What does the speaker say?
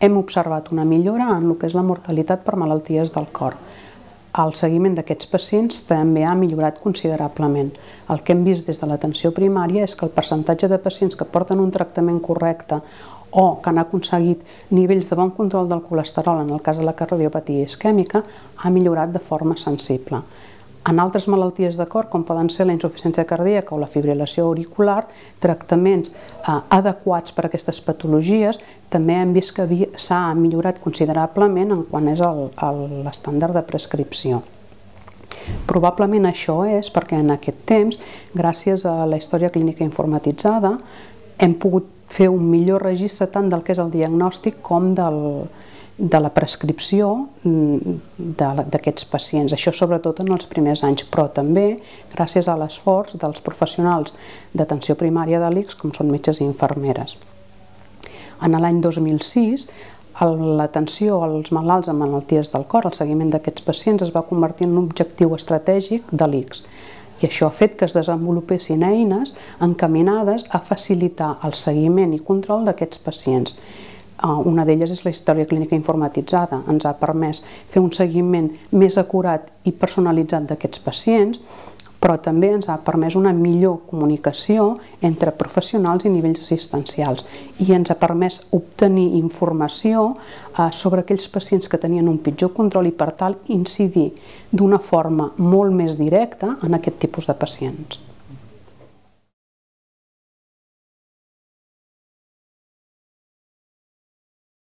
hem observat una millora en el que és la mortalitat per malalties del cor. El seguiment d'aquests pacients també ha millorat considerablement. El que hem vist des de l'atenció primària és que el percentatge de pacients que porten un tractament correcte o que han aconseguit nivells de bon control del colesterol, en el cas de la cardiopatia isquèmica, ha millorat de forma sensible. En altres malalties de cor, com poden ser la insuficiència cardíaca o la fibrilació auricular, tractaments adequats per a aquestes patologies, també hem vist que s'ha millorat considerablement en quant és l'estàndard de prescripció. Probablement això és perquè en aquest temps, gràcies a la història clínica informatitzada, hem pogut fer un millor registre tant del que és el diagnòstic com de la prescripció d'aquests pacients. Això sobretot en els primers anys, però també gràcies a l'esforç dels professionals d'atenció primària de l'ICS, com són metges i infermeres. En l'any 2006, l'atenció als malalts amb malalties del cor, el seguiment d'aquests pacients, es va convertir en un objectiu estratègic de l'ICS. I això ha fet que es desenvolupessin eines encaminades a facilitar el seguiment i control d'aquests pacients. Una d'elles és la història clínica informatitzada. Ens ha permès fer un seguiment més acurat i personalitzat d'aquests pacients, però també ens ha permès una millor comunicació entre professionals i nivells assistencials i ens ha permès obtenir informació sobre aquells pacients que tenien un pitjor control i per tal incidir d'una forma molt més directa en aquest tipus de pacients.